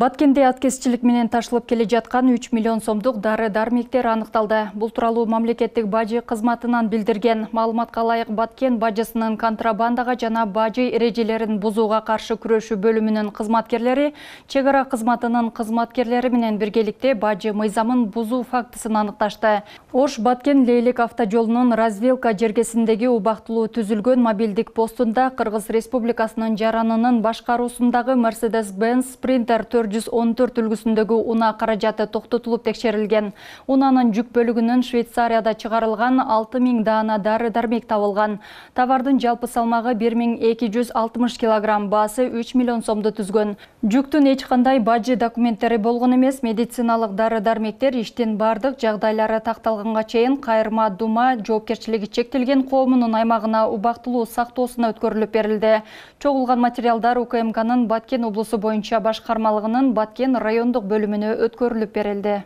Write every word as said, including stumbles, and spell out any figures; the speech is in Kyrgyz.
Баткенде аткезчилик менен ташылып келе жаткан үч миллион сомдук дары-дармектер аныкталды. Бул тууралуу мамлекеттик бажы кызматынан билдирген. Маалыматка ылайык, Баткен бажысынын контрабандага жана бажы эрежелерин бузууга каршы күрөшүү бөлүмүнүн кызматкерлери чек ара кызматынын кызматкерлери менен биргеликте бажы мыйзамын бузуу фактысын аныкташты. Ош Баткен Лейлек автожолунун развилка жергесиндеги убактылуу түзүлгөн мобилдик постунда Кыргыз Республикасынын жаранынын башкаруусундагы Mercedes-Benz Sprinter төрт жүз он төрт үлгүсүндөгү унаа каражаты токтотулуп текшерилген. Унаанын жүк бөлүгүнөн Швейцарияда чыгарылган алты миң даана дары-дармек табылган. Товардын жалпы салмагы бир миң эки жүз алтымыш килограмм, баасы үч миллион сомду түзгөн. Жүктүн эч кандай бажы документтери болгон эмес. Медициналык дары-дармектер иштин бардык жагдайлары такталганга чейин Кайырма Дума жоопкерчилиги чектелген коомунун аймагына убактылуу сактоосуна өткөрүлүп берилди. Чогулган материалдар У К М К'нын Баткен облусу боюнча башкармалыгынын Баткен райондук бөлүмүнө өткөрүлүп берилди.